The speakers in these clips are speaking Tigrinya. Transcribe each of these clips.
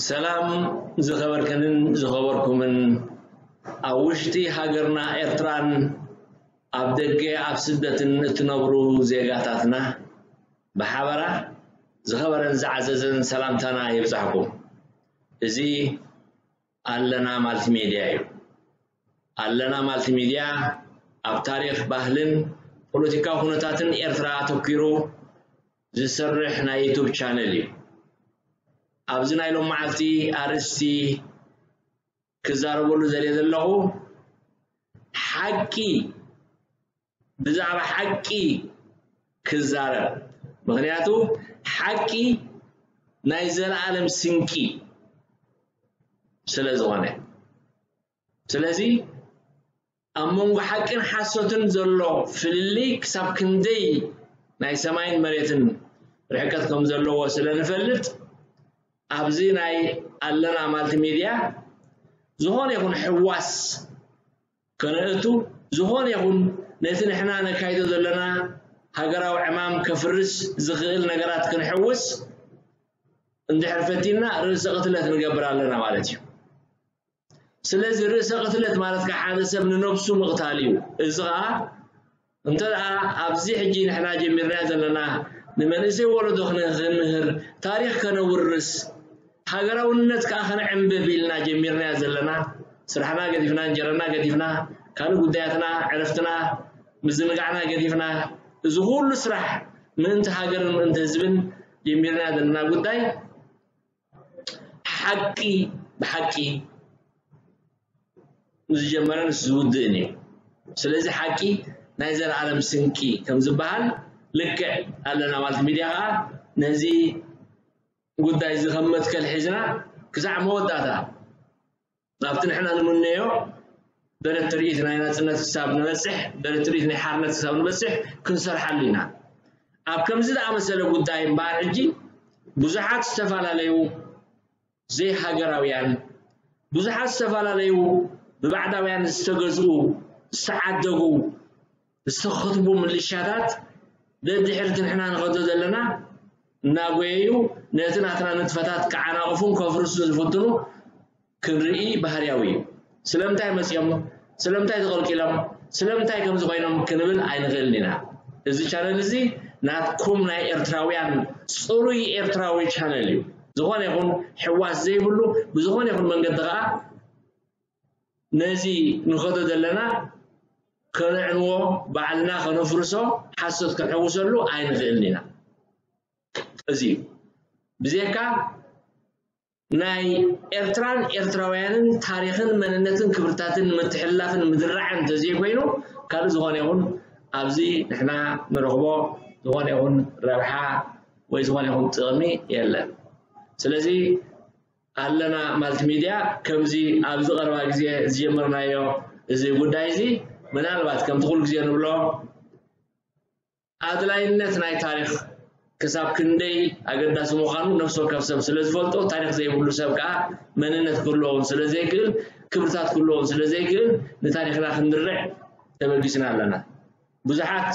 ሰላም ዝኸበርክንን ዝኸበርኩምን ኣብ ውሽጢ ሃገርና ኤርትራን ኣብ ደገ ኣብ ስደትን እትነብሩ ዜጋታትና ብሓበራ ዝኸበረን ዝዓዘዘን ሰላምታና ይብጻሕኩም። እዚ ኣለና ማልቲሜድያ እዩ። ኣለና ማልቲሜድያ ኣብ ታሪኽ፣ ባህልን ፖለቲካዊ ኩነታትን ኤርትራ ኣተኲሩ ዝሰርሕ ናይ ዩቱብ ቻነል እዩ። ኣብዚ ናይ ሎም መዓልቲ ኣርእስቲ ክዛረበሉ ዘልየ ዘለኹ ሓቂ፣ ብዛዕባ ሓቂ ክዛረብ። ምኽንያቱ ሓቂ ናይ ዘለኣለም ስንቂ ስለ ዝኾነ። ስለዚ ኣብ መንጎ ሓቅን ሓሶትን ዘሎ ፍልልይ ክሳብ ክንደይ ናይ ሰማይን መሬትን ርሕቀት ከም ዘለዎ ስለ ንፈልጥ፣ ኣብዚ ናይ ኣለና ማልቲሜድያ ዝኾነ ይኹን ሕዋስ ከነእቱ፣ ዝኾነ ይኹን ነቲ ንሕና ነካይዶ ዘለና ሃገራዊ ዕማም ከፍርስ ዝኽእል ነገራት ክንሕውስ እንድሕር ፈቲንና ርእሰ ቅትለት ንገብር ኣለና ማለት እዩ። ስለዚ ርእሰ ቅትለት ማለት ከኣ ሓደ ሰብ ንነብሱ ምቕታል እዩ። እዚ ኸኣ እንተ ደኣ ኣብዚ ሕጂ ንሕና ጀሚርናዮ ዘለና ንመንእሰይ ወለዶ ክነ-፣ ክንምህር፣ ታሪኽ ከነውርስ፣ ሃገራውነት ከኣ ከነዕንብብ ኢልና ጀሚርናዮ ዘለና፣ ስራሕና ገዲፍና፣ እንጀራና ገዲፍና፣ ካልእ ጉዳያትና፣ ዕረፍትና፣ ምዝንጋዕና ገዲፍና፣ እዚ ኩሉ ስራሕ ምእንቲ ሃገርን ምእንቲ ህዝብን ጀሚርናዮ ዘለና ጉዳይ ሓቂ ብሓቂ ዝጀመረን ዝውድእን እዩ። ስለዚ ሓቂ ናይ ዘለኣለም ስንቂ ከም ዝበሃል ልክዕ ኣለና ማለት ሚድያ ኸዓ ነዚ ጉዳይ እዚ ከም መትከል ሒዝና ክሳዕ መወዳእታ ናብቲ ንሕና ንምነዮ ደረት ትርኢት ናይ ናጽነት ክሳብ ንበጽሕ፣ ደረት ትርኢት ናይ ሓርነት ክሳብ ንበጽሕ ክንሰርሓሉ ኢና። ኣብ ከምዚ ዝኣመሰለ ጉዳይ እምበኣር ሕጂ ብዙሓት ዝተፈላለዩ ዘይሃገራውያን፣ ብዙሓት ዝተፈላለዩ ብባዕዳውያን ዝተገዝኡ፣ ዝተዓደጉ፣ ዝተኸትቡ ምልሻታት ደድሕርቲ ንሕና ንኸዶ ዘለና እናጎየዩ ነቲ ናትና ንጥፈታት ክዓናቕፉን ከፍርሱን ዝፍትኑ ክንርኢ ባህርያዊ እዩ። ስለምንታይ መጺኦም? ስለምንታይ ተቐልቂሎም? ስለምንታይ ከምዚ ኮይኖም ክንብል ኣይንኽእልን ኢና። እዚ ቻነል እዚ ናትኩም ናይ ኤርትራውያን ጽሩይ ኤርትራዊ ቻነል እዩ። ዝኾነ ይኹን ሕዋስ ዘይብሉ ብዝኾነ ይኹን መንገዲ ኸኣ ነዚ ንኸዶ ዘለና ከነዕንዎ፣ ባዕልና ከነፍርሶ፣ ሓሶት ክንሕውሰሉ ኣይንኽእልን ኢና። እዚ እዩ። ብዘይካ ናይ ኤርትራን ኤርትራውያንን ታሪኽን መንነትን ክብርታትን ንምትሕልላፍን ምድራዕን እንተዘይኮይኑ ካልእ ዝኾነ ይኹን ኣብዚ ንሕና ንረኽቦ ዝኾነ ይኹን ረብሓ ወይ ዝኾነ ይኹን ጥቕሚ የለን። ስለዚ ኣለና ማልቲሚድያ ከምዚ ኣብዚ ቀረባ ግዜ ዝጀመርናዮ እዚ ጉዳይ እዚ ምናልባት ከምቲ ኩሉ ግዜ ንብሎ ኣድላይነት ናይ ታሪኽ ክሳብ ክንደይ ኣገዳሲ ምዃኑ ነፍሲ ወከፍ ሰብ ስለ ዝፈልጦ፣ ታሪኽ ዘይብሉ ሰብ ከኣ መንነት ክህልዎ እውን ስለ ዘይክእል፣ ክብርታት ክህልዎ እውን ስለ ዘይክእል፣ ንታሪኽና ክንድርዕ ተበጊስና ኣለና። ብዙሓት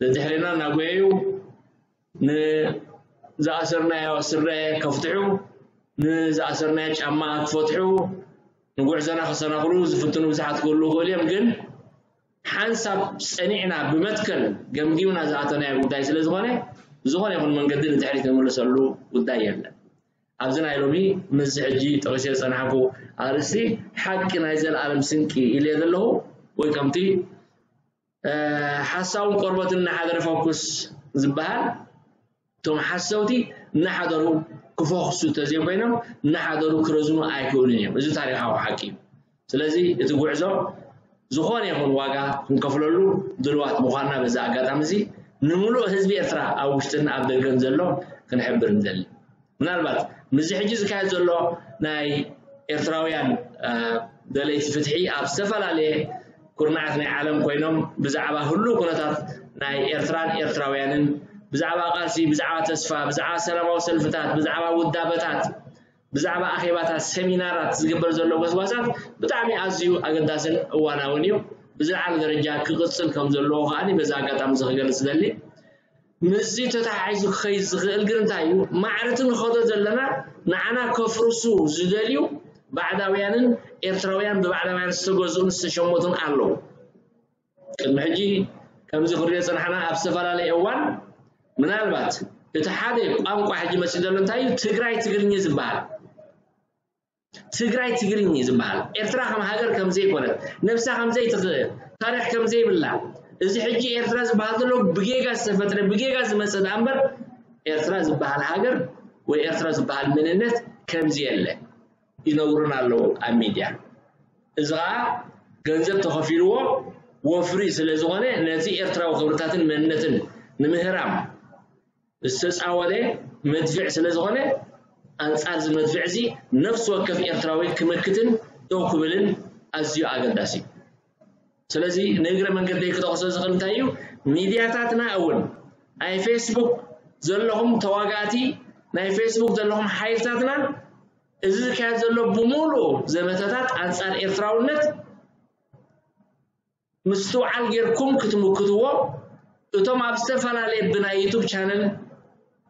ደድሕሬና እናጎየዩ ንዝኣሰርናዮ ስረ ከፍትሑ፣ ንዝኣሰርናዮ ጫማ ክፈትሑ፣ ንጉዕዞና ክሰናኽሉ ዝፍትኑ ብዙሓት ክህልዉ ይኽእሉ እዮም። ግን ሓንሳብ ጸኒዕና ብመትከል ገምጊምና ዝኣተናዮ ጉዳይ ስለ ዝኾነ፣ ብዝኾነ ይኹን መንገዲ ንድሕሪት ንምለሰሉ ጉዳይ የለን። ኣብዚ ናይ ሎሚ ምስዚ ሕጂ ጠቒሰ ዝጸናሕኩ ኣርእስቲ ሓቂ ናይ ዘለኣለም ስንቂ ኢለዮ ዘለኹ፣ ወይ ከምቲ፣ እ፣ ሓሳውን ቆርበትን እናሓደረ ፈኩስ ዝበሃል፣ እቶም ሓሰውቲ እናሓደሩ ክፈኹሱ እንተዘይኮይኖም፣ እናሓደሩ ክረዝኑ ኣይክእሉን እዮም። እዚ ታሪኻዊ ሓቂ እዩ። ስለዚ እቲ ጉዕዞ ዝኾነ ይኹን ዋጋ ክንከፍለሉ ድልዋት ምዃንና በዚ ኣጋጣሚ እዚ ንምሉእ ህዝቢ ኤርትራ ኣብ ውሽጥን ኣብ ደገን ዘሎ ክንሕብር ንደሊ። ምናልባት ምስዚ ሕጂ ዝካየድ ዘሎ ናይ ኤርትራውያን፣ እ፣ ደለይቲ ፍትሒ ኣብ ዝተፈላለየ ኩርናዓት ናይ ዓለም ኮይኖም ብዛዕባ ህሉው ኩነታት ናይ ኤርትራን ኤርትራውያንን፣ ብዛዕባ ቃልሲ፣ ብዛዕባ ተስፋ፣ ብዛዕባ ሰላማዊ ሰልፍታት፣ ብዛዕባ ውዳበታት፣ ብዛዕባ ኣኼባታት፣ ሰሚናራት ዝግበር ዘሎ ጎስጓሳት ብጣዕሚ ኣዝዩ ኣገዳስን እዋናውን እዩ። ብዝለዓለ ደረጃ ክቕጽል ከም ዘለዎ ከኣ በዚ ኣጋጣሚ እዚ ክገልጽ እደሊ። ምስዚ ተተሓሒዙ ክኸይድ ዝኽእል ግን እንታይ እዩ? ማዕረቲ ንኸዶ ዘለና ንዓና ከፍርሱ ዝደልዩ ባዕዳውያንን ኤርትራውያን ብባዕዳውያን ዝተገዝኡን ዝተሸመቱን ኣለዉ። ቅድሚ ሕጂ ከምዚ ክሪኦ ዝጸናሕና ኣብ ዝተፈላለየ እዋን ምናልባት እቲ ሓደ ቋንቋ ሕጂ መጺኡ ዘሎ እንታይ እዩ? ትግራይ ትግርኛ ዝበሃል። ትግራይ ትግርኛ ዝበሃል። ኤርትራ ከም ሃገር ከም ዘይኮነት፣ ነብሳ ከም ዘይትኽእል፣ ታሪኽ ከም ዘይብላ፣ እዚ ሕጂ ኤርትራ ዝበሃል ዘሎ ብጌጋ ዝተፈጥረ፣ ብጌጋ ዝመጸ ደኣ እምበር ኤርትራ ዝበሃል ሃገር ወይ ኤርትራ ዝበሃል መንነት ከምዚ የለ ይነግሩና ኣለዉ ኣብ ሚድያ። እዚ ኸኣ ገንዘብ ተኸፊልዎ ወፍሪ ስለ ዝኾነ ነቲ ኤርትራዊ ክብርታትን መንነትን ንምህራም ዝተጻወተ መድፍዕ ስለ ዝኾነ ኣንጻር እዚ መድፍዕ እዚ ነፍሲ ወከፍ ኤርትራዊ ክምክትን ደው ክብልን ኣዝዩ ኣገዳሲ እዩ። ስለዚ ንእግረ መንገደይ ክጠቕሶ ዝኽእል እንታይ እዩ? ሚድያታትና እውን ናይ ፌስቡክ ዘለኹም ተዋጋእቲ ናይ ፌስቡክ ዘለኹም ሓይልታትና እዚ ዝካየድ ዘሎ ብምሉኡ ዘመተታት ኣንጻር ኤርትራውነት ምስትውዓል ጌርኩም ክትምክትዎ እቶም ኣብ ዝተፈላለየ ብናይ ዩቱብ ቻነል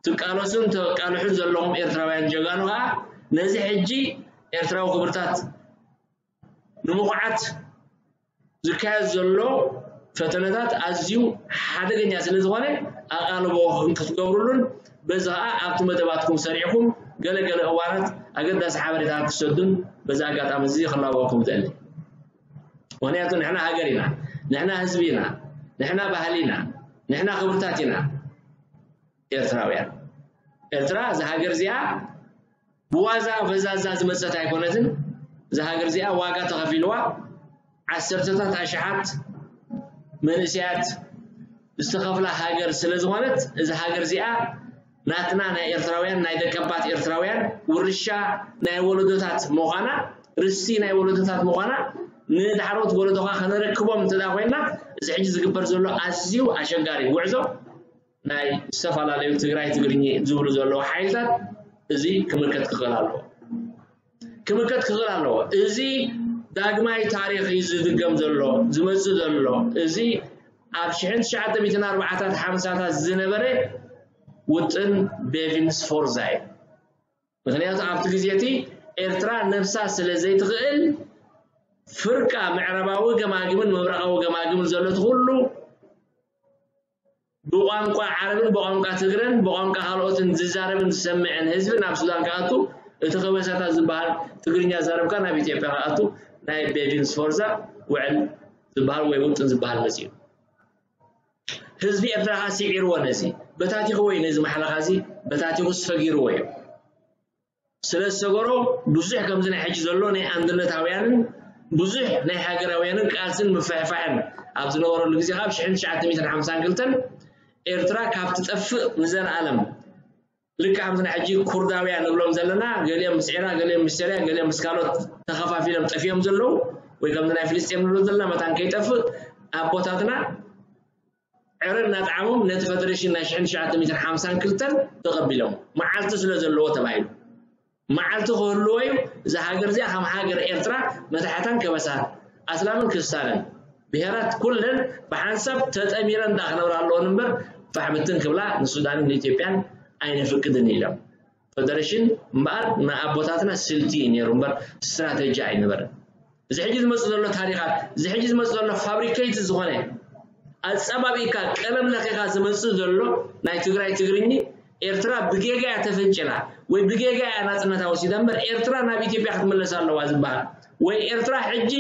ትቃለሱን ተቃልሑን ዘለኹም ኤርትራውያን ጀጋኑ ኸዓ ነዚ ሕጂ ኤርትራዊ ክብርታት ንምኹዓት ዝካየድ ዘሎ ፈተነታት ኣዝዩ ሓደገኛ ስለ ዝኾነ ኣቓልቦ ክትገብሩሉን በዚ ኸዓ ኣብቲ መደባትኩም ሰሪዕኩም ገለ ገለ እዋናት ኣገዳሲ ሓበሬታ ክትሰዱን በዚ ኣጋጣሚ እዚ ክላበወኩም እደሊ። ምኽንያቱ ንሕና ሃገር ኢና፣ ንሕና ህዝቢ ኢና፣ ንሕና ባህሊ ኢና፣ ንሕና ክብርታት ኢና ኤርትራውያን። ኤርትራ እዛ ሃገር እዚኣ ብዋዛ ፈዛዛ ዝመጸት ኣይኮነትን። እዛ ሃገር እዚኣ ዋጋ ተኸፊልዋ ዓሰርተታት ኣሽሓት መንእሰያት ዝተኸፍላ ሃገር ስለ ዝኾነት እዛ ሃገር እዚኣ ናትና ናይ ኤርትራውያን ናይ ደቀባት ኤርትራውያን ውርሻ ናይ ወለዶታት ምዃና ርስቲ ናይ ወለዶታት ምዃና ንዳሕሮት ወለዶኻ ከነረክቦም እንተ ኮይና እዚ ሕጂ ዝግበር ዘሎ ኣዝዩ ኣሸጋሪ ጉዕዞ ናይ ዝተፈላለዩ ትግራይ ትግርኚ ዝብሉ ዘለዉ ሓይልታት እዚ ክምልከት ክኽእል ኣለዎ። ክምልከት ክኽእል ኣለዎ። እዚ ዳግማይ ታሪኽ እዩ ዝድገም ዘሎ፣ ዝመጽእ ዘሎ። እዚ ኣብ ሽሕን ትሽዓተ ሚእትን ኣርባዓታት ሓምሳታት ዝነበረ ውጥን ቤቪን ስፎርዛ እዩ። ምኽንያቱ ኣብቲ ግዜ እቲ ኤርትራ ነብሳ ስለ ዘይትኽእል ፍርቃ ምዕራባዊ ገማግምን ምብራቓዊ ገማግምን ዘሎ እቲ ኩሉ ብቋንቋ ዓረብን ብቋንቋ ትግረን ብቋንቋ ካልኦትን ዝዛረብን ዝሰምዕን ህዝቢ ናብ ሱዳን ክኣቱ እቲ ከበሳታት ዝበሃል ትግርኛ ዛረብካ ናብ ኢትዮጵያ ክኣቱ ናይ ቤቪን ስፎርዛ ውዕል ዝበሃል ወይ ውጥን ዝበሃል መፅዩ። ህዝቢ ኤርትራ ከዓ ስዒርዎ ነዚ በታቲኽዎ እዩ ነዚ ማሕለኻ እዚ በታቲኹ ሰጊርዎ እዩ። ስለ ዝሰገሮ ብዙሕ ከምዚ ናይ ሕጂ ዘሎ ናይ ኣንድነታውያንን ብዙሕ ናይ ሃገራውያንን ቃልስን ምፍሕፋሕን ኣብ ዝነበረሉ ግዜ ካብ ሽሕን ትሽዓተ ሚእትን ሓምሳን ክልተን ኤርትራ ካብ ትጠፍእ ንዘለኣለም ልክዕ ከምዚ ናይ ሕጂ ኩርዳውያን ንብሎም ዘለና ገሊኦም ምስ ኤራ ገሊኦም ምስ ሰርያ ገሊኦም ምስ ካልኦት ተኸፋፊሎም ጠፊኦም ዘለዉ ወይ ከምዚ ናይ ፍልስጤም ንብሎ ዘለና መታን ከይጠፍእ ኣቦታትና ዕረ እናጠዓሞም ነቲ ፈደሬሽን ናይ ሽሕን ትሽዓተ ሚእትን ሓምሳን ክልተን ተቐቢሎም መዓልቲ ስለ ዘለዎ ተባሂሉ መዓልቲ ክህልዎ እዩ። እዛ ሃገር እዚኣ ከም ሃገር ኤርትራ መታሕታን ከበሳን ኣስላምን ክርስታንን ብሄራት ኩለን ብሓንሳብ ተጠሚረን ዳ ክነብራ ኣለዎን እምበር ፋሕ ብትን ክብላ ንሱዳንን ንኢትዮጵያን ኣይነፍቅድን ኢሎም። ፈደሬሽን እምበኣር ንኣቦታትና ስልቲ እዩ ነይሩ እምበር ስትራተጂ ኣይነበረን። እዚ ሕጂ ዝመፅእ ዘሎ ታሪኻት እዚ ሕጂ ዝመፅእ ዘሎ ፋብሪኬት ዝኾነ ኣፀባቢካ ቀለም ለኺኻ ዝመፅእ ዘሎ ናይ ትግራይ ትግርኚ ኤርትራ ብጌጋ እያ ተፈንጭላ ወይ ብጌጋ እያ ናፅነታ ወሲዳ እምበር ኤርትራ ናብ ኢትዮጵያ ክትምለስ ኣለዋ ዝበሃል ወይ ኤርትራ ሕጂ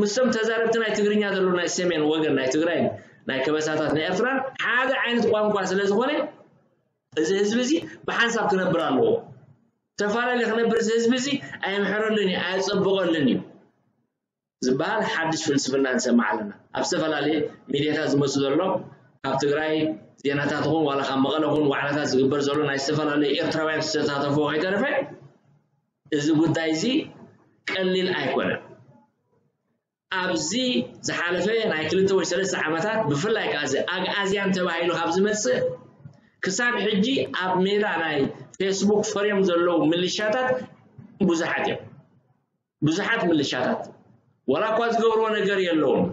ምስቶም ተዛረብቲ ናይ ትግርኛ ዘለዉ ናይ ሰሜን ወገን ናይ ትግራይ ናይ ከበሳታት ናይ ኤርትራን ሓደ ዓይነት ቋንቋ ስለ ዝኾነ እዚ ህዝቢ እዚ ብሓንሳብ ክነብር ኣለዎ። ተፈላለዩ ክነብር እዚ ህዝቢ እዚ ኣየምሕረሉን እዩ ኣየፀብቐሉን እዩ ዝበሃል ሓድሽ ፍልስፍና ንሰምዕ ኣለና። ኣብ ዝተፈላለየ ሚድያታት ዝመፁ ዘሎ ካብ ትግራይ ዜናታት ይኹን ዋላ ካብ መቐለ ይኹን ዋዕላታት ዝግበር ዘሎ ናይ ዝተፈላለዩ ኤርትራውያን ዝተሳተፍዎ ከይተረፈ እዚ ጉዳይ እዚ ቀሊል ኣይኮነን። ኣብዚ ዝሓለፈ ናይ ክልተ ወይ ሰለስተ ዓመታት ብፍላይ ከዓ እዚ ኣግኣዝያን ተባሂሉ ካብ ዝመፅእ ክሳብ ሕጂ ኣብ ሜዳ ናይ ፌስቡክ ፈርዮም ዘለዉ ምልሻታት ብዙሓት እዮም። ብዙሓት ምልሻታት ዋላ እኳ ዝገብርዎ ነገር የለዎም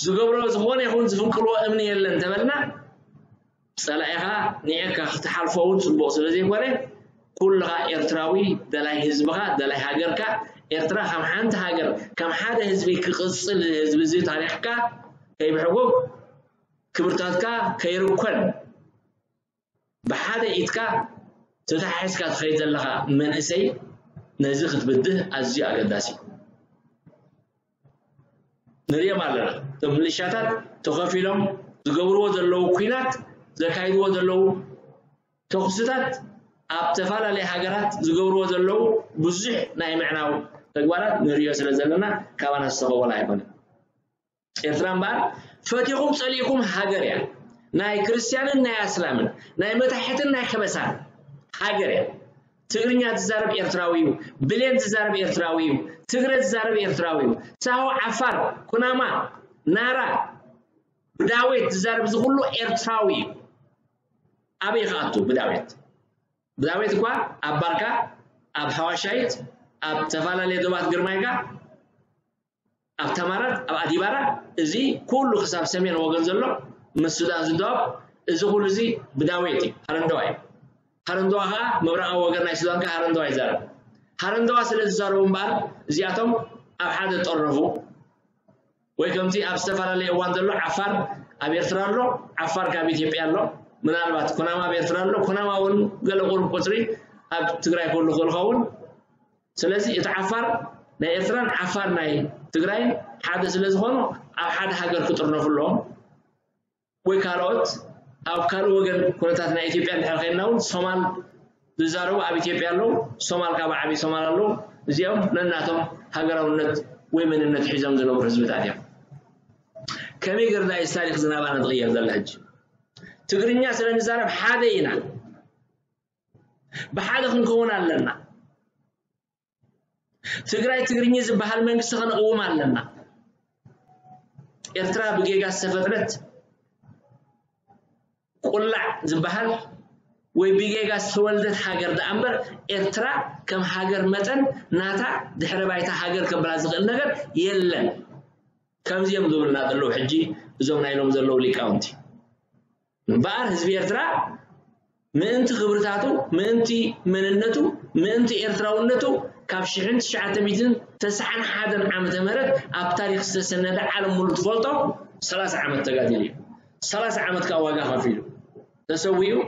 ዝገብሮ ዝኾነ ይኹን ዝፍንቅልዎ እምኒ የለን እንተበልና ጸላኢኻ ንኤካ ክትሓልፎ እውን ጽቡቕ ስለ ዘይኮነ፣ ኩልኻ ኤርትራዊ፣ ደላይ ህዝብኻ፣ ደላይ ሃገርካ፣ ኤርትራ ከም ሓንቲ ሃገር፣ ከም ሓደ ህዝቢ ክቕጽል፣ ህዝቢ እዚ ታሪኽካ ከይብሕጎግ፣ ክብርታትካ ከይርኮን፣ ብሓደ ኢድካ ተታሒዝካ ትኸይድ ዘለኻ መንእሰይ፣ ነዚ ክትብድህ ኣዝዩ ኣገዳሲ እዩ። ንሪኦም ኣለና። እቶም ምልሻታት ተኸፊሎም ዝገብርዎ ዘለዉ ኲናት፣ ዘካይድዎ ዘለዉ ተኹስታት፣ ኣብ ተፈላለየ ሃገራት ዝገብርዎ ዘለዉ ብዙሕ ናይ ምዕናው ተግባራት ንሪኦ ስለ ዘለና፣ ካባና ዝተኸወለ ኣይኮነን። ኤርትራ እምበኣር ፈቲኹም ጸሊእኩም ሃገር እያ። ናይ ክርስትያንን ናይ ኣስላምን፣ ናይ መታሕትን ናይ ከበሳን ሃገር እያ። ትግርኛ ዝዛረብ ኤርትራዊ እዩ። ብሌን ዝዛረብ ኤርትራዊ እዩ። ትግረ ዝዛረብ ኤርትራዊ እዩ። ሳሆ፣ ዓፋር፣ ኩናማ፣ ናራ፣ ብዳዌት ዝዛረብ እዚ ኩሉ ኤርትራዊ እዩ። ኣበይ ክኣቱ ብዳዌት? ብዳዌት እኳ ኣብ ባርካ፣ ኣብ ሓዋሻይት፣ ኣብ ተፈላለየ ዶባት ግርማይካ፣ ኣብ ተማራት፣ ኣብ ኣዲባራ፣ እዚ ኩሉ ክሳብ ሰሜን ወገን ዘሎ ምስ ሱዳን ዝደዋብ፣ እዚ ኩሉ እዚ ብዳዌት እዩ፣ ሃረንደዋ እዩ። ሃረንደዋ ኸዓ ምብራቓዊ ወገን ናይ ሱዳን ከኣ ሃረንደዋ ይዛረብ። ሃረንደዋ ስለ ዝዛረቡ እምበኣር እዚኣቶም ኣብ ሓደ ጠርነፉ። ወይ ከምቲ ኣብ ዝተፈላለየ እዋን ዘሎ ዓፋር ኣብ ኤርትራ ኣሎ፣ ዓፋር ካብ ኢትዮጵያ ኣሎ። ምናልባት ኩናማ ኣብ ኤርትራ ኣሎ፣ ኩናማ እውን ገለ ቁሩብ ቁጽሪ ኣብ ትግራይ ክህሉ ክእል ኸውን። ስለዚ እቲ ዓፋር ናይ ኤርትራን ዓፋር ናይ ትግራይን ሓደ ስለ ዝኾኑ ኣብ ሓደ ሃገር ክጥርነፉ ኣለዎም። ወይ ካልኦት ኣብ ካልእ ወገን ኩነታት ናይ ኢትዮጵያ እንድሕር ኸይድና እውን ሶማል ዝዛረቡ ኣብ ኢትዮጵያ ኣለዉ። ሶማል ካብ ዓብዪ ሶማል ኣለዉ። እዚኦም ነናቶም ሃገራውነት ወይ መንነት ሒዞም ዝነብሩ ህዝብታት እዮም። ከመይ ገርና እዩ ታሪኽ ዝናባና ዝቕየር ዘላ ሕጂ? ትግርኛ ስለ ንዛረብ ሓደ ኢና። ብሓደ ክንከውን ኣለና። ትግራይ ትግርኛ ዝበሃል መንግስቲ ከነቕውም ኣለና። ኤርትራ ብጌጋ ዝተፈጥረት ቁላዕ ዝበሃል ወይ ብጌጋ ዝተወልደት ሃገር ደኣ እምበር ኤርትራ ከም ሃገር መጠን ናታ ድሕረ ባይታ ሃገር ከብላ ዝኽእል ነገር የለን። ከምዚ እዮም ዝብሉና ዘለዉ ሕጂ እዞም ናይ ሎም ዘለዉ ሊቃውንቲ። እምበኣር ህዝቢ ኤርትራ ምእንቲ ክብርታቱ፣ ምእንቲ መንነቱ፣ ምእንቲ ኤርትራውነቱ ካብ ሽሕን ትሽዓተ ሚእትን ተስዓን ሓደን ዓመተ ምህረት ኣብ ታሪኽ ዝተሰነደ ዓለም ሙሉ ትፈልጦ ሰላሳ ዓመት ተጋዲሉ እዩ። ሰላሳ ዓመት ከዓ ዋጋ ከፊሉ። ተሰዊኡ፣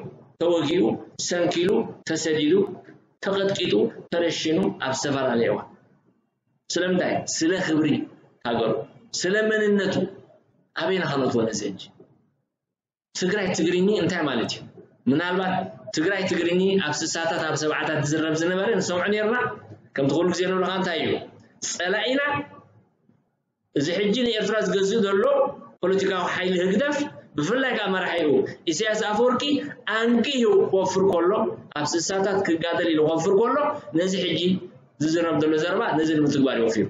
ተወጊኡ፣ ሰንኪሉ፣ ተሰዲዱ፣ ተቐጥቂጡ፣ ተረሽኑ ኣብ ዝተፈላለየ እዋን። ስለምንታይ? ስለ ክብሪ ሃገሩ፣ ስለ መንነቱ። ኣበይና ከነእትዎ ነዚ ሕጂ? ትግራይ ትግርኚ እንታይ ማለት እዩ? ምናልባት ትግራይ ትግርኚ ኣብ ስሳታት ኣብ ሰብዓታት ዝዝረብ ዝነበረ ንሰምዖ ነርና። ከምቲ ኩሉ ግዜ ንብለኻ እንታይ እዩ? ጸላኢና እዚ ሕጂ ንኤርትራ ዝገዝእ ዘሎ ፖለቲካዊ ሓይሊ ህግደፍ ብፍላይ ከዓ መራሒኡ ኢሳያስ ኣፈወርቂ ኣንጊሁ ክወፍር ከሎ ኣብ ስሳታት ክጋደል ኢሉ ክወፍር ከሎ ነዚ ሕጂ ዝዝረብ ዘሎ ዘረባ ነዚ ንምትግባር ይወፊሩ።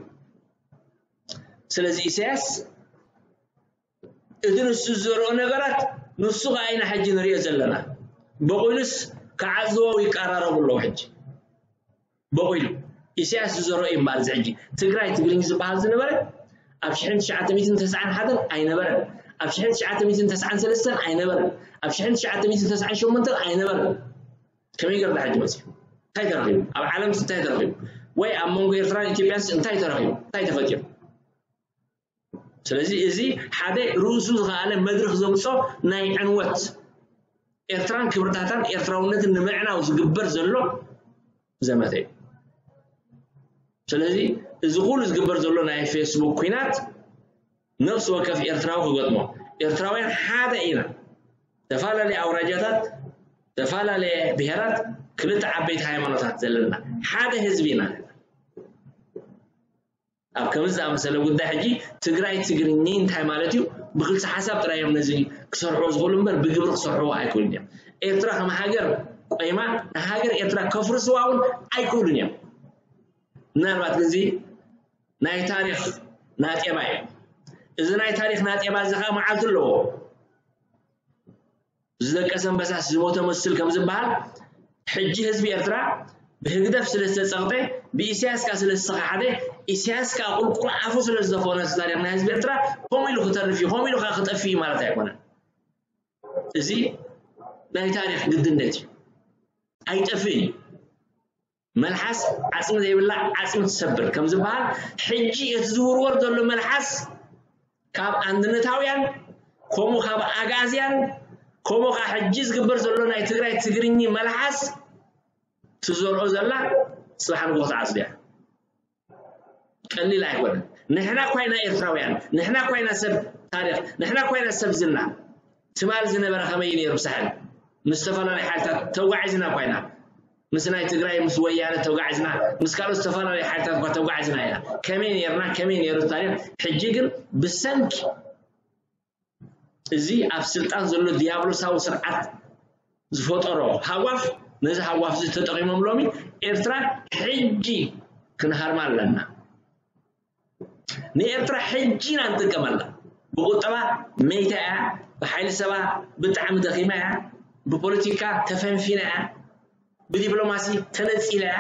ስለዚ ኢሳያስ እቲ ንሱ ዝዘርኦ ነገራት ንሱ ከዓ ኢና ሕጂ ንሪኦ ዘለና። በቑሉስ ክዓዝዎ ይቀራረቡ ኣለዉ ሕጂ። በቑሉ ኢሳያስ ዝዘርኦ እዩ እምበኣር እዚ ሕጂ ትግራይ ትግርኝ ዝበሃል ዝነበረ ኣብ ሽሕን ትሽዓተ ሚእትን ተስዓን ሓደን ኣይነበረን። ኣብ ሽሕን ትሽዓተ ሚእትን ተስዓን ሰለስተን ኣይነበረን። ኣብ ሽሕን ትሽዓተ ሚእትን ተስዓን ሸሞንተን ኣይነበረን። ከመይ ገርና ሕጂ መፅዩ? እንታይ ተረኺቡ? ኣብ ዓለምስ እንታይ ተረኺቡ? ወይ ኣብ መንጎ ኤርትራን ኢትዮጵያንስ እንታይ ተረኺቡ? እንታይ ተፈጢሩ? ስለዚ እዚ ሓደ ርእሱ ዝኸኣለ መድረኽ ዘምጾ ናይ ዕንወት ኤርትራን ክብርታታን ኤርትራውነትን ንምዕናው ዝግበር ዘሎ ዘመተ እዩ። ስለዚ እዚ ኩሉ ዝግበር ዘሎ ናይ ፌስቡክ ኲናት ነፍሲ ወከፍ ኤርትራዊ ክገጥሞ፣ ኤርትራውያን ሓደ ኢና። ተፈላለየ ኣውራጃታት፣ ተፈላለየ ብሄራት፣ ክልተ ዓበይቲ ሃይማኖታት ዘለና ሓደ ህዝቢ ኢና። ኣብ ከምዚ ዝኣመሰለ ጉዳይ ሕጂ ትግራይ ትግርኚ እንታይ ማለት እዩ? ብክልሲ ሓሳብ ጥራይ እዮም ነዚ ክሰርሕዎ ዝኽእሉ እምበር ብግብሪ ክሰርሕዎ ኣይክእሉን እዮም። ኤርትራ ከም ሃገር ቆይማ ንሃገር ኤርትራ ከፍርስዋ እውን ኣይክእሉን እዮም። ምናልባት ግን እዚ ናይ ታሪኽ ናጤባ እዩ። እዚ ናይ ታሪኽ ናጤባ እዚ ከዓ መዓልቲ ኣለዎ። ዝደቀሰ ኣንበሳስ ዝሞተ መስል ከም ዝበሃል ሕጂ ህዝቢ ኤርትራ ብህግደፍ ስለ ዝተጸቕጠ ብኢሳያስ ከኣ ስለ ዝተኸሓደ ኢሳያስ ከኣ ቁልቁል ኣፉ ስለ ዝደፈነ እዚ ታሪኽ ናይ ህዝቢ ኤርትራ ከምኡ ኢሉ ክተርፍ እዩ ከምኡ ኢሉ ከኣ ክጠፍእ እዩ ማለት ኣይኮነን። እዚ ናይ ታሪኽ ግድነት እዩ። ኣይጠፍእን እዩ። መልሓስ ዓጽሚ ዘይብላ ዓጽሚ ትሰብር ከም ዝበሃል፣ ሕጂ እቲ ዝውርወር ዘሎ መልሓስ ካብ ኣንድነታውያን፣ ከምኡ ካብ ኣግኣዝያን፣ ከምኡ ካብ ሕጂ ዝግበር ዘሎ ናይ ትግራይ ትግርኚ መልሓስ ትዘርኦ ዘላ ጽባሕ ንግሆ ትዓጽዶ እያ። ቀሊል ኣይኮነን። ንሕና እኳ ኢና ኤርትራውያን፣ ንሕና እኳ ኢና ሰብ ታሪኽ፣ ንሕና እኳ ኢና ሰብ ዝና። ትማል ዝነበረ ከመይ ነይሩ ብሳሕል? ምስ ዝተፈላለዩ ሓይልታት ተጓዒዝና እኳ ኢና። ምስ ናይ ትግራይ፣ ምስ ወያነ ተጓዒዝና፣ ምስ ካልኦት ዝተፈላለዩ ሓይልታት እኳ ተጓዒዝና ኢና። ከመይ ነይርና፣ ከመይ ነይሩ ታሪኽ? ሕጂ ግን ብሰንኪ እዚ ኣብ ስልጣን ዘሎ ዲያብሎሳዊ ስርዓት ዝፈጠሮ ሃዋፍ፣ ነዚ ሃዋፍ እዚ ተጠቒሞም ሎሚ ኤርትራ ሕጂ ክንሃርማ ኣለና። ንኤርትራ ሕጂ ኢና ንጥቀመላ። ብቁጠባ መይታ እያ፣ ብሓይሊ ሰባ ብጣዕሚ ደኺማ እያ፣ ብፖለቲካ ተፈንፊና እያ፣ ብዲፕሎማሲ ተነጺላ እያ።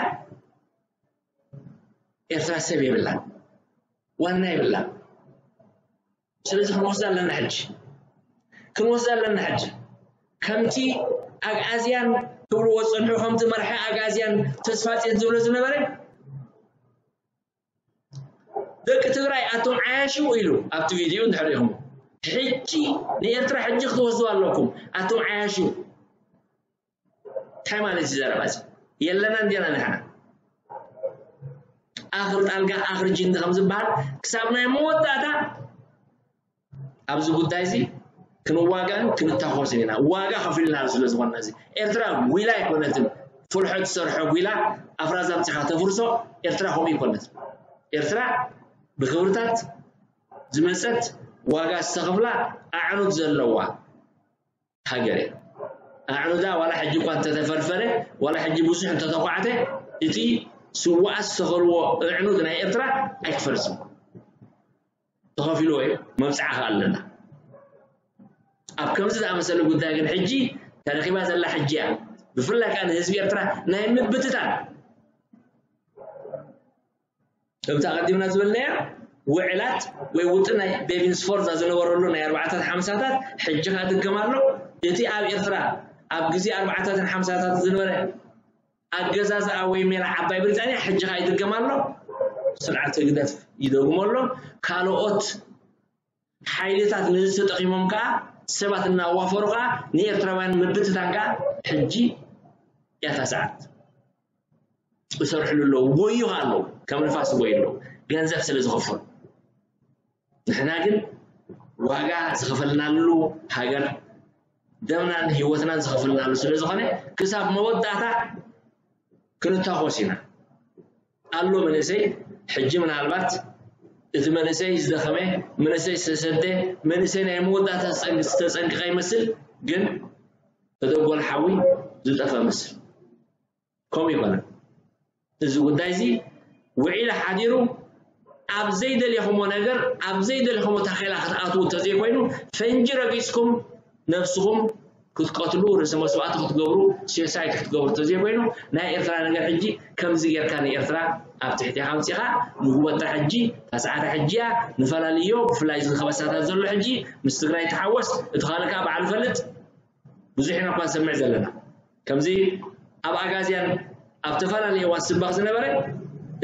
ኤርትራ ሰብ የብላን፣ ዋና የብላን። ስለዚ ክንወስዳ ኣለና ሕጂ፣ ክንወስዳ ኣለና ሕጂ። ከምቲ ኣግኣዝያን ክብልዎ ዝጸንሑ፣ ከምቲ መራሒ ኣግኣዝያን ተስፋጽዮን ዝብሎ ዝነበረ፣ ደቂ ትግራይ ኣቶም ዓያሹ ኢሉ ኣብቲ ቪድዮ እንድሕር ኢኹም፣ ሕጂ ንኤርትራ ሕጂ ክትወስዱ ኣለኩም ኣቶም ዓያሹ። እንታይ ማለት እዩ ዘረባ እዚ? የለና እንዲና ንሕና። ኣኽሪ ጣልጋ ኣኽሪ ጅንዲ ከም ዝበሃል ክሳብ ናይ መወዳእታ ኣብዚ ጉዳይ እዚ ክንዋጋእን ክንታኾስን ኢና። ዋጋ ከፊልና ስለ ዝኾንና እዚ ኤርትራ ጒላ ኣይኮነትን። ፍልሖ ትሰርሖ ጒላ ኣፍራዛ ኣምጺኻ ተፍርሶ። ኤርትራ ከምኡ ኣይኮነትን። ኤርትራ ብክብርታት ዝመጸት ዋጋ ዝተኸፍላ ኣዕኑድ ዘለዋ ሃገር እያ። ኣዕኑዳ ዋላ ሕጂ እኳ እንተተፈርፈረ፣ ዋላ ሕጂ ብዙሕ እንተተኳዕተ፣ እቲ ስውኣት ዝተኸልዎ ኣዕኑድ ናይ ኤርትራ ኣይክፈርስን። ተኸፊልዎ እዩ፣ መብጽዓ ከኣ ኣለና። ኣብ ከምዚ ዝኣመሰለ ጉዳይ ግን ሕጂ ተረኺባ ዘላ ሕጂ እያ። ብፍላይ ከኣ ንህዝቢ ኤርትራ ናይ ምብትታን ከምቲ ኣቐዲምና ዝበልናዮ ውዕላት ወይ ውጥን ናይ ቤቪን ስፎርዛ ዝነበረሉ ናይ ኣርባዓታት ሓምሳታት ሕጂ ከኣ ድገም ኣሎ። እቲ ኣብ ኤርትራ ኣብ ግዜ ኣርባዓታትን ሓምሳታት ዝነበረ ኣገዛዝኣ ወይ ሜላ ዓባይ ብሪጣንያ ሕጂ ከኣ ይድገም ኣሎ። ስርዓት ህግደፍ ይደግሞ ኣሎ። ካልኦት ሓይልታት ነዚ ተጠቒሞም ከኣ ሰባት እናዋፈሩ ከኣ ንኤርትራውያን ምብትታን ከኣ ሕጂ እያ እታ ሰዓት። ይሰርሕሉ ኣለዉ፣ ይጎዩ ከኣ ኣለዉ፣ ከም ንፋስ ይጎዩ ኣለዉ፣ ገንዘብ ስለ ዝኸፈሉ። ንሕና ግን ዋጋ ዝኸፈልናሉ ሃገር፣ ደምናን ህይወትናን ዝኸፈልናሉ ስለ ዝኾነ፣ ክሳብ መወዳእታ ክንታኾስ ኢና። ኣሎ መንእሰይ፣ ሕጂ ምናልባት እቲ መንእሰይ ዝደኸመ፣ መንእሰይ ዝተሰደ፣ መንእሰይ ናይ መወዳእታ ዝጸንቅ-፣ ዝተጸንቀቐ ይመስል፣ ግን ተደጎል ሓዊ ዝጠፈ መስል። ከምኡ ይኮነን። እዚ ጉዳይ እዚ ውዒሉ ሓዲሩ ኣብ ዘይደለኹሞ ነገር፣ ኣብ ዘይደለኹሞ ታኼላ ክትኣትዉ እንተዘይኮይኑ፣ ፈንጂ ረጊጽኩም ነብስኹም ክትቀትሉ፣ ርእሰ መስዋእቲ ክትገብሩ፣ ሴሳይት ክትገብሩ እንተዘይኮይኑ፣ ናይ ኤርትራ ነገር ሕጂ ከምዚ ጌርካ ንኤርትራ ኣብ ትሕቴኻ ኣምጺኻ፣ ንጉበጣ ሕጂ፣ ታስዓታ ሕጂ እያ፣ ንፈላልዮ፣ ብፍላይ እዚ ከበሳታት ዘሎ ሕጂ፣ ምስ ትግራይ ተሓወስ፣ እቲ ካልእ ከኣ ባዕሉ ፈልጥ። ብዙሕ ኢና እኳ ንሰምዕ ዘለና። ከምዚ ኣብ ኣጋዝያን ኣብ ተፈላለየ እዋን ዝስበኽ ዝነበረ፣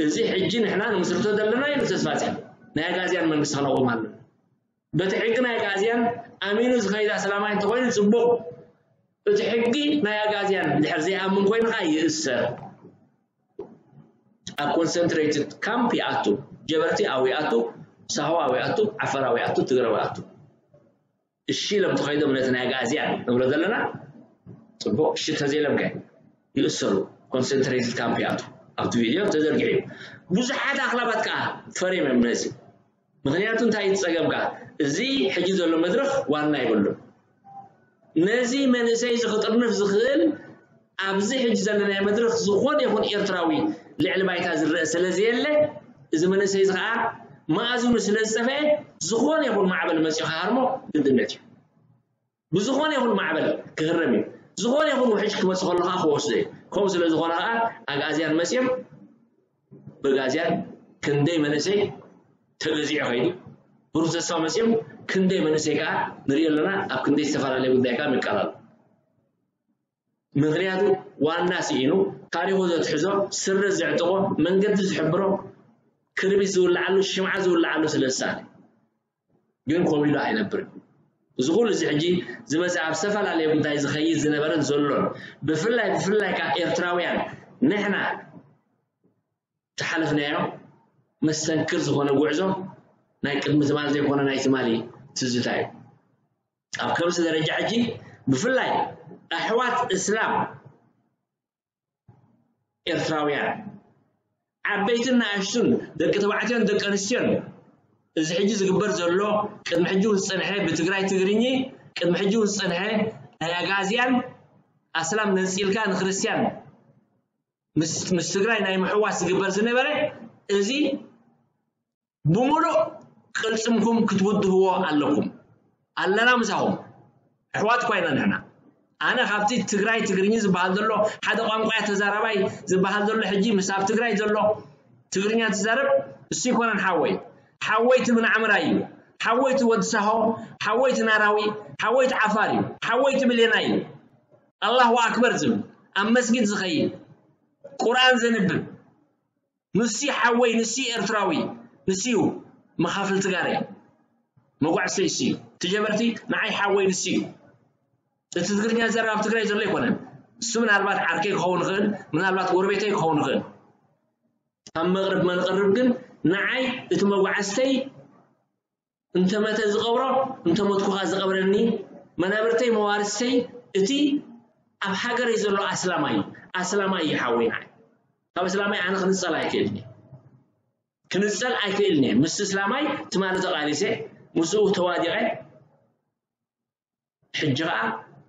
እዚ ሕጂ ንሕና ንምስርቶ ዘለና እዩ ተስፋ ፂን። ናይ ኣጋዝያን መንግስቲ ክነቑም ኣለና። በቲ ሕጊ ናይ ኣጋዝያን ኣሚኑ ዝኸይድ ኣስላማይ እንተኾይኑ ፅቡቕ። እቲ ሕጊ ናይ ኣጋዝያን ድሕር ዘይኣምን ኮይኑ ከዓ ይእሰር። ኣብ ኮንሰንትሬትድ ካምፕ ይኣቱ። ጀበርቲ ኣብኡ ይኣቱ፣ ሳሆ ኣብኡ ይኣቱ፣ ዓፈር ኣብኡ ይኣቱ፣ ትግረ ኣብኡ ይኣቱ። እሺ ኢሎም ተኸይዶም ነቲ ናይ ኣጋዝያን ንብሎ ዘለና ፅቡቕ። እሺ ተዘይሎም ከ ይእሰሩ፣ ኮንሰንትሬትድ ካምፕ ይኣቱ። ኣብቲ ቪድዮ ተዘርጊሑ እዩ። ብዙሓት ኣኽላባት ከዓ ፈሪም እዮም ነዚ። ምኽንያቱ እንታይ እዩ እቲ ፀገም ከዓ? እዚ ሕጂ ዘሎ መድረኽ ዋና የብሉን። ነዚ መንእሰይ እዚ ክጥርንፍ ዝኽእል ኣብዚ ሕጂ ዘለናዮ መድረኽ ዝኾነ ይኹን ኤርትራዊ ልዕሊ ባይታ ዝረአ ስለ ዘየለ፣ እዚ መንእሰይ እዚ ከዓ መኣዝኑ ስለ ዝጠፍአ፣ ዝኾነ ይኹን ማዕበል መፂኡ ክሃርሞ ግድነት እዩ። ብዝኾነ ይኹን ማዕበል ክህረም እዩ። ዝኾነ ይኹን ውሕጅ ክመፅእ ከሎ ከዓ ክወስዶ እዩ። ከምኡ ስለ ዝኾነ ከዓ ኣግኣዝያን መፂኦም ብኣግኣዝያን ክንደይ መንእሰይ ተገዚዑ ከይዱ፣ ብሩህ ተስፋ መፂኦም ክንደይ መንእሰይ ከዓ ንሪኦ ኣለና። ኣብ ክንደይ ዝተፈላለየ ጉዳይ ከዓ ምቃላል ምኽንያቱ ዋና ስኢኑ፣ ታሪኹ ዘትሕዞ፣ ስረ ዘዕጥቖ፣ መንገዲ ዝሕብሮ፣ ክርቢት ዝውልዓሉ፣ ሽምዓ ዝውልዓሉ ስለ ዝሳነ። ግን ኮቢሉ ኣይነብርን። እዚ ኩሉ እዚ ሕጂ ዝመጽእ ኣብ ዝተፈላለየ ጉዳይ ዝኸይድ ዝነበረን ዘሎን፣ ብፍላይ ብፍላይ ከኣ ኤርትራውያን ንሕና ዝሓለፍናዮ መስተንክር ዝኾነ ጉዕዞ ናይ ቅድሚ ትማሊ ዘይኮነ ናይ ትማሊ ትዝታ እዩ። ኣብ ከምዚ ደረጃ ሕጂ ብፍላይ ኣሕዋት እስላም ኤርትራውያን ዓበይትን ንኣሽቱን ደቂ ተባዕትዮን ደቂ ኣንስትዮን እዚ ሕጂ ዝግበር ዘሎ ቅድሚ ሕጂ እውን ዝጸንሐ ብትግራይ ትግርኚ ቅድሚ ሕጂ እውን ዝጸንሐ ናይ ኣጋዝያን ኣስላም ነጺልካ ንክርስትያን ምስ ምስ ትግራይ ናይ ምሕዋስ ዝግበር ዝነበረ እዚ ብምሉእ ቅልጽምኩም ክትውድህዎ ኣለኩም። ኣለና ምሳኹም። ኣሕዋት እኳ ኢና ንሕና። ኣነ ካብቲ ትግራይ ትግርኛ ዝበሃል ዘሎ ሓደ ቋንቋ ተዛራባይ ዝበሃል ዘሎ ሕጂ ምስ ኣብ ትግራይ ዘሎ ትግርኛ ትዛረብ እሱ ይኮነን ሓወይ። ሓወይ እቲ ምንዓምራይ እዩ። ሓወይ እቲ ወዲ ሳሆ፣ ሓወይ እቲ ናራዊ፣ ሓወይ እቲ ዓፋር እዩ። ሓወይ እቲ ብሌናይ እዩ። ኣላሁ ኣክበር ዝብል ኣብ መስጊድ ዝኸይድ ቁርኣን ዘንብብ ንሲ ሓወይ ንሲ ኤርትራዊ ንሲ እዩ መኻፍል ትጋረ መጓዕሰይ ሲ ትጀበርቲ ንዓይ ሓወይ ንሲ እዩ። እቲ ትግርኛ ዘረባ ኣብ ትግራይ ዘሎ ኣይኮነን። እሱ ምናልባት ዓርከይ ክኸውን ይኽእል፣ ምናልባት ጎረቤተይ ክኸውን ይኽእል። ኣብ መቕርብ መንቕርብ ግን ንዓይ እቲ መጓዕዝተይ እንተመተ ዝቐብሮ እንተሞትኩኻ ዝቐብረኒ መናብርተይ መዋርስተይ እቲ ኣብ ሃገረይ ዘሎ ኣስላማይ ኣስላማይ ይሓወይ ንዓይ ካብ ኣስላማይ ኣነ ክንጸል ኣይክእልን ክንጸል ኣይክእልን ምስ እስላማይ ትማሊ ተቓሊሰ ምስኡ ተዋዲቐ ሕጂ ኸዓ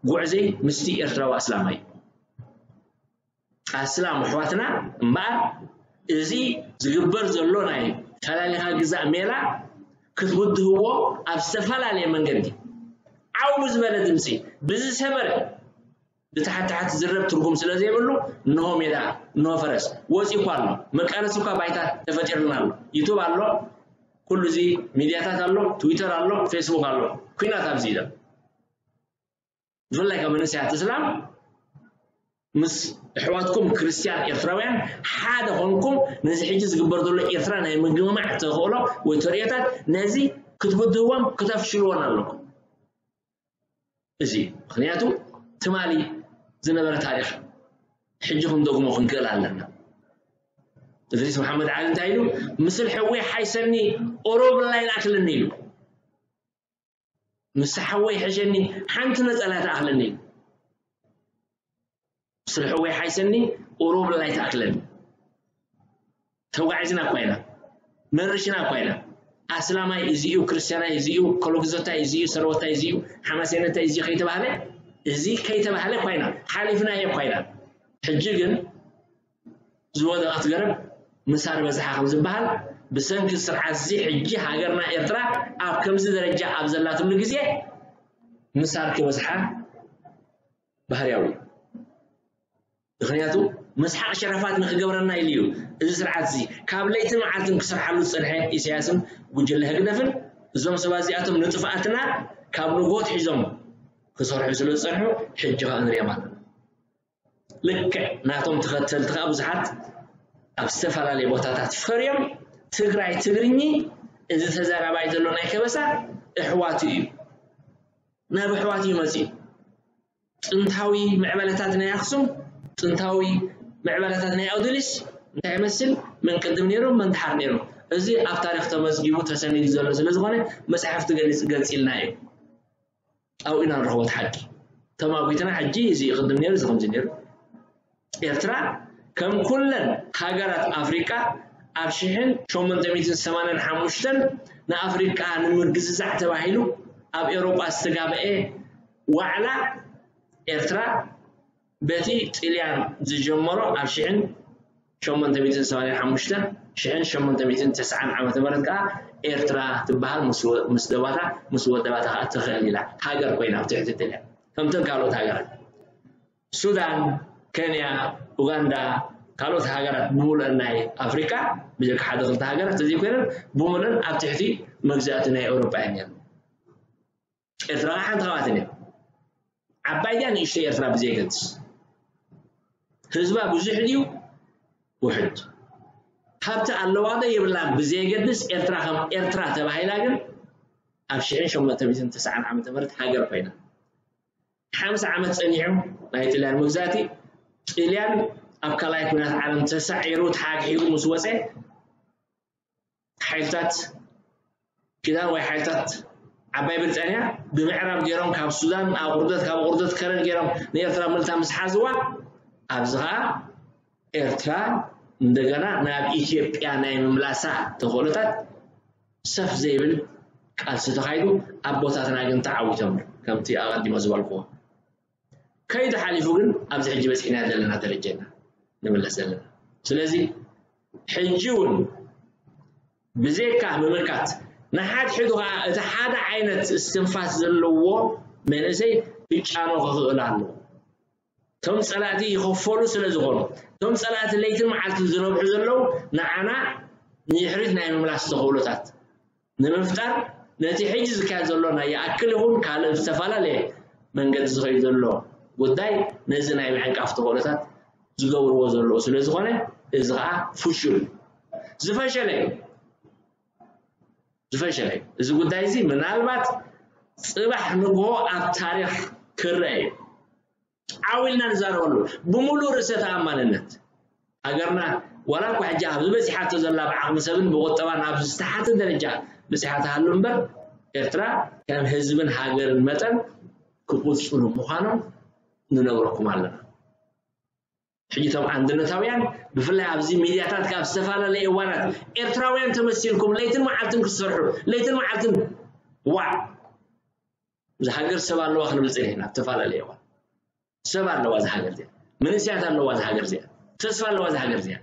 ጉዕዘይ ምስቲ ኤርትራዊ ኣስላማይ ኣስላም ኣሕዋትና እምበኣር እዚ ዝግበር ዘሎ ናይ ፈላሊኻ ግዛእ ሜላ ክትውድህዎ ኣብ ዝተፈላለየ መንገዲ ዓው ብዝበለ ድምፂ ብዝሰመረ ብታሕቲ ታሕቲ ዝረብ ትርጉም ስለ ዘይብሉ እንሆ ሜዳ እንሆ ፈረስ ወፂኡ እኳ ኣሎ መቃለሲ እኳ ባይታ ተፈጢርልና ኣሎ ዩቱብ ኣሎ ኩሉ እዚ ሚድያታት ኣሎ ትዊተር ኣሎ ፌስቡክ ኣሎ ኩናት ኣብዚ ኢለ ብፍላይ ካብ መንእሰያት እስላም ምስ ኣሕዋትኩም ክርስትያን ኤርትራውያን ሓደ ኮንኩም ነዚ ሕጂ ዝግበር ዘሎ ኤርትራ ናይ ምግምማዕ ተኽእሎ ወይ ተርእዮታት ነዚ ክትብድህዎም ክተፍሽልዎን ኣለኩም እዚ ምክንያቱ ትማሊ ዝነበረ ታሪክ ሕጂ ክንደግሞ ክንክእል ኣለና እድሪስ መሓመድ ዓሊ እንታይ ኢሉ ምስል ሕዊ ሓይሰኒ ኦሮብላ ይልኣክልኒ ኢሉ ምስ ሓወይ ሕሸኒ ሓንቲ ነፀላ ትኣኽለኒ ስለ ሕወይ ሓይሰኒ ኦሮብላ ኣይትኣክለኒ ተጓዒዝና እኳ ኢና መርሽና እኳ ኢና ኣስላማይ እዚኡ ክርስትያናይ እዚኡ ኮሎግዞታይ እዚኡ ሰረወታይ እዚኡ ሓማሴነታይ እዚኡ ከይተባህለ እዚ ከይተባህለ እኳ ኢና ሓሊፍናዮ እኳ ኢና ሕጂ ግን ዝወደቐት ገረብ ምሳር በዝሓ ከም ዝበሃል ብሰንኪ ስርዓት እዚ ሕጂ ሃገርና ኤርትራ ኣብ ከምዚ ደረጃ ኣብ ዘላትሉ ግዜ ምሳር ክበዝሓ ባህርያዊ እዩ። ምክንያቱ መስሓቕ ሸረፋት ንክገብረና ኢሉ እዩ እዚ ስርዓት እዚ ካብ ለይትን መዓልትን ክሰርሓሉ ዝፀንሐ ኢሳያስን ጉጅለ ህግደፍን እዞም ሰባት እዚኣቶም ንጥፍኣትና ካብ ንግሆ ኣትሒዞም ክሰርሑ ስለ ዝፀንሑ ሕጂ ከዓ ንሪኦም ኣለና። ልክዕ ናቶም ተኸተልቲ ከዓ ብዙሓት ኣብ ዝተፈላለየ ቦታታት ፈርዮም ትግራይ ትግርኚ እዚ ተዛራባይ ዘሎ ናይ ከበሳ እሕዋቱ እዩ ናብ ኣሕዋቱ እዩ መፅኡ ጥንታዊ ምዕበለታት ናይ ኣክሱም ጥንታዊ ምዕበለታት ናይ ኣውድሊስ እንታይ ይመስል መን ቅድም ነይሩ መን ድሓር ነይሩ እዚ ኣብ ታሪክ ተመዝጊቡ ተሰኒዱ ዘሎ ስለዝኾነ መፅሓፍቲ ገሊፅ ገሊፅልና እዩ ኣብኡ ኢና ንረኽቦ እቲ ሓቂ ተማጒትና ሕጂ እዚ ቅድም ነይሩ እዚ ከምዚ ነይሩ ኤርትራ ከም ኩለን ሃገራት ኣፍሪቃ ኣብ ሽሕን ሸሞንተ ሚእትን ሰማንያን ሓሙሽተን ንኣፍሪቃ ንምግዝዛዕ ተባሂሉ ኣብ ኤውሮጳ ዝተጋበኤ ዋዕላ ኤርትራ በቲ ጥልያን ዝጀመሮ ኣብ ሽሕን ሸሞንተ ሚእትን ሰማንያን ሓሙሽተን ሽሕን ሸሞንተ ሚእትን ተስዓን ዓመተ ምህረት ከኣ ኤርትራ ትበሃል ምስ ወ- ምስ ደባታ ምስ ወደባታ ከኣ ትኽእል ኢላ ሃገር ኮይና ኣብ ትሕቲ ጥልያን ከምተን ካልኦት ሃገራት ሱዳን፣ ኬንያ፣ ኡጋንዳ፣ ካልኦት ሃገራት ብምሉአን ናይ ኣፍሪቃ ብጀካ ሓደ ክልተ ሃገራት ተዘይኮይነን ብምሉአን ኣብ ትሕቲ መግዛእቲ ናይ ኤውሮጳ እየን ነይረን። ኤርትራ ከዓ ሓንቲ ካብኣተን እያ። ዓባይ ድያ ንእሽተይ ኤርትራ ብዘየገድስ። ህዝባ ብዙሕ ድዩ ውሕድ? ሃብቲ ኣለዋ ዶ የብላን ብዘየገድስ፣ ኤርትራ ከም ኤርትራ ተባሂላ ግን ኣብ ሽሕን ሸሞንተ ሚእትን ተስዓን ዓመተ ምህረት ሃገር ኮይና፣ ሓምሳ ዓመት ጸኒሑ ናይ ጥልያን መግዛእቲ። ጥልያን ኣብ ካልኣይ ኩናት ዓለም ተሳዒሩ ተሓግሒጉ ምስ ወጸ፣ ሓይልታት ኪዳን ወይ ሓይልታት ዓባይ ብሪጣንያ ብምዕራብ ገይሮም ካብ ሱዳን ኣቑርደት፣ ካብ ኣቑርደት ከረን ገይሮም ንኤርትራ ምልታ ምስ ሓዝዋ፣ ኣብዚ ኸኣ ኤርትራ እንደገና ናብ ኢትዮጵያ ናይ ምምላሳ ተኽእሎታት ሰፍ ዘይብል ቃልሲ ተኻይዱ፣ ኣቦታትና ግን ተዓዊቶም። ከምቲ ኣቐዲሞ ዝበልክዎ ከይዱ ሓሊፉ ግን ኣብዚ ሕጂ በፂሕና ዘለና ደረጃ ኢና ንምለስ ዘለና። ስለዚ ሕጂ እውን ብዘይካ ምምካት፣ ንሓድሕዱ ከዓ እቲ ሓደ ዓይነት እስትንፋስ ዘለዎ መንእሰይ ክጫኖ ክኽእል ኣለዎ። እቶም ፀላእቲ ይኸፈሉ ስለ ዝኾኑ፣ እቶም ፀላእቲ ለይትን መዓልትን ዝነብሑ ዘለዉ ንዓና ንድሕሪት ናይ ምምላስ ተኽእሎታት ንምፍጣር፣ ነቲ ሕጂ ዝካየድ ዘሎ ናይ ይኣክል ይኹን ካልእ ዝተፈላለየ መንገዲ ዝኸይድ ዘሎ ጉዳይ ነዚ ናይ ምዕንቃፍ ተኽእሎታት ዝገብርዎ ዘለዉ ስለ ዝኾነ፣ እዚ ኸዓ ፍሹል እዩ። ዝፈሸለ እዩ። ዝፈሸለ እዩ። እዚ ጉዳይ እዚ ምናልባት ጽባሕ ንግሆ ኣብ ታሪኽ ክረአ እዩ። ዓው ኢልና ንዛረበሉ ብምሉእ ርእሰ ተኣማንነት። ሃገርና ዋላ እኳ ሕጂ ኣብ ዝበጺሓቶ ዘላ ብዓቕሚ ሰብን ብቁጠባን ኣብ ዝተሓተ ደረጃ በጺሓ ትሃሉ እምበር፣ ኤርትራ ከም ህዝብን ሃገርን መጠን ክቕጽሉ ምዃኖም ንነግረኩም ኣለና። ሕጂ እቶም ኣንድነታውያን ብፍላይ ኣብዚ ሚድያታት ካብ ዝተፈላለየ እዋናት ኤርትራውያን ተመሲልኩም ለይትን መዓልትን ክትሰርሑ፣ ለይትን መዓልትን ዋዕ፣ እዛ ሃገር ሰብ ኣለዋ ክንብል ጸኒሕና። ኣብ ዝተፈላለየ እዋን ሰብ ኣለዋ እዛ ሃገር እዚኣ፣ መንእሰያት ኣለዋ እዛ ሃገር እዚኣ፣ ተስፋ ኣለዋ እዛ ሃገር እዚኣ፣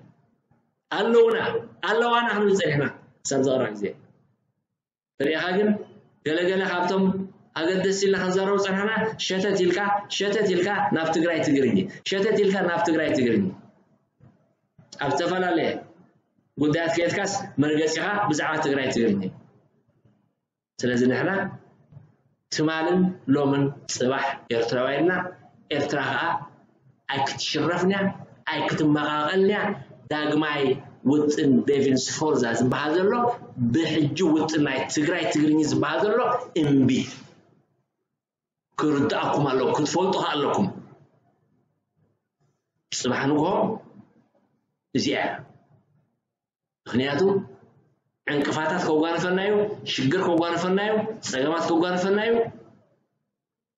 ኣለውና ኣለዋና ክንብል ጸኒሕና። ሳብ ዝቐረበ ግዜ ርኢኻ ግን ገለገለ ካብቶም ኣገደስ ኢልና ክንዛረቡ ጸናሕና፣ ሸተት ኢልካ ሸተት ኢልካ ናብ ትግራይ ትግርኝ፣ ሸተት ኢልካ ናብ ትግራይ ትግርኝ። ኣብ ዝተፈላለየ ጉዳያት ከየትካስ መርገጺኻ ብዛዕባ ትግራይ ትግርኝ። ስለዚ ንሕና ትማልን ሎምን ጽባሕ ኤርትራውያንና፣ ኤርትራ ኸኣ ኣይክትሽረፍንያ ኣይክትመቓቐልንያ። ዳግማይ ውጥን ዴቪንስ ፎርዛ ዝበሃል ዘሎ ብሕጂ ውጥን ናይ ትግራይ ትግርኝ ዝበሃል ዘሎ እምቢ። ክርድኣኩም ኣለዎ፣ ክትፈልጡ ከ ኣለኩም። ጽባሕ ንግሆ እዚኣ እያ። ምክንያቱ ዕንቅፋታት ከጓንፈና እዩ፣ ሽግር ከጓንፈና እዩ፣ ጸገማት ከጓንፈና እዩ።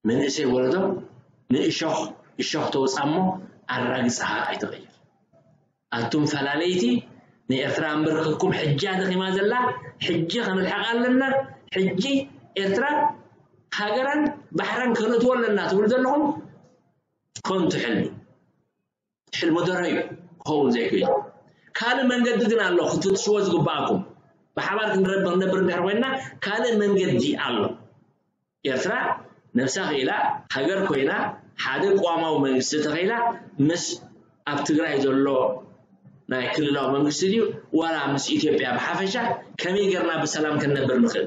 መንእሰይ ወለዶ ንእሾኽ እሾኽ ተውፅኣ እሞ ኣራግፅኻ ኣይትቐይር። ኣቱም ፈላለይቲ ንኤርትራ ኣንበርክኽኩም ሕጂ ደኺማ ዘላ ሕጂ ከነልሕቓ ኣለና። ሕጂ ኤርትራ ሃገራን ባሕራን ከነእትዎ ኣለና ትብሉ ዘለኹም ከንቱ ሕልሚ። ሕልሚ ደሮ እዩ ክኸውን ዘይክእል። ካልእ መንገዲ ግን ኣሎ ክትፍትሽዎ ዝግባኣኩም። ብሓባር ክንረብ ክንነብር እንድሕር ኮይንና ካልእ መንገዲ ኣሎ። ኤርትራ ነብሳ ክኢላ ሃገር ኮይና ሓደ ቅዋማዊ መንግስቲ ተኸኢላ ምስ ኣብ ትግራይ ዘሎ ናይ ክልላዊ መንግስቲ ድዩ ዋላ ምስ ኢትዮጵያ ብሓፈሻ ከመይ ጌርና ብሰላም ክንነብር ንኽእል?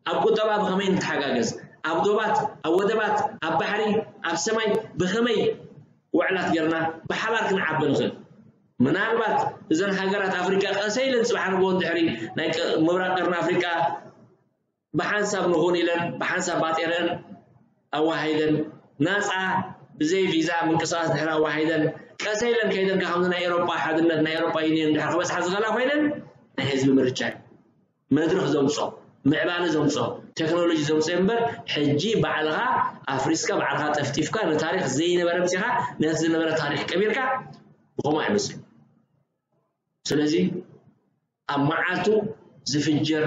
ኣብ ቁጠባ ብኸመይ ንተሓጋገዝ? ኣብ ዶባት፣ ኣብ ወደባት፣ ኣብ ባሕሪ፣ ኣብ ሰማይ ብኸመይ ውዕላት ጌርና ብሓባር ክንዓቢ ንኽእል? ምናልባት እዘን ሃገራት ኣፍሪቃ ቀሰ ኢለን ጽባሕ ንግሆ እንድሕሪ ናይ ቅ-፣ ምብራቕ ቀርኒ ኣፍሪቃ ብሓንሳብ ንኹን ኢለን ብሓንሳብ ባጤረን ኣዋሃይደን ናጻ ብዘይ ቪዛ ምንቅስቃስ ድሕሪ ኣዋሃይደን ቀሰ ኢለን ከይደን ከምዚ ናይ ኤሮጳ ሓድነት ናይ ኤሮጳ ዩኒየን ድሕሪ ክበጽሓ ዝኽእላ ኮይነን ናይ ህዝቢ ምርጫ እዩ። መድረኽ ዘምጾ ምዕባለ ዘምጾ ቴክኖሎጂ ዘምጾ እምበር ሕጂ ባዕልኻ ኣፍሪስካ ባዕልኻ ጠፍጢፍካ ንታሪኽ ዘይነበረ ምጺኻ ነቲ ዝነበረ ታሪኽ ቀቢርካ ብኸምኡ ኣይመስልን። ስለዚ ኣብ መዓልቱ ዝፍጀር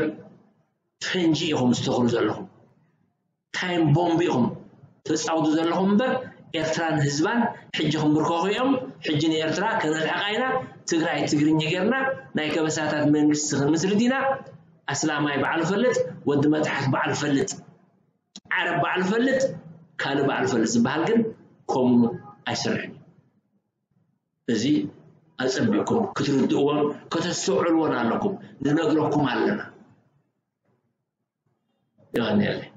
ፈንጂ ኢኹም ዝተኽሉ ዘለኹም። ታይም ቦምብ ኢኹም ተጻውቱ ዘለኹም እምበር ኤርትራን ህዝባን ሕጂ ክንብርከኹ እዮም። ሕጂ ንኤርትራ ከነልሕቓ ኢና። ትግራይ ትግርኛ ጌርና ናይ ከበሳታት መንግስቲ ክንምስርት ኢና። ኣስላማይ ባዕሉ ፈልጥ፣ ወዲ መጥሓት ባዕሉ ፈልጥ፣ ዓረብ ባዕሉ ፈልጥ፣ ካልእ ባዕሉ ፈልጥ ዝበሃል ግን ከምኡ ኣይሰርሕን እዩ። እዚ ኣጸቢቕኩም ክትርድእዎን ከተስተውዕልዎን ኣለኩም። ንነግረኩም ኣለና። የቐንየለይ።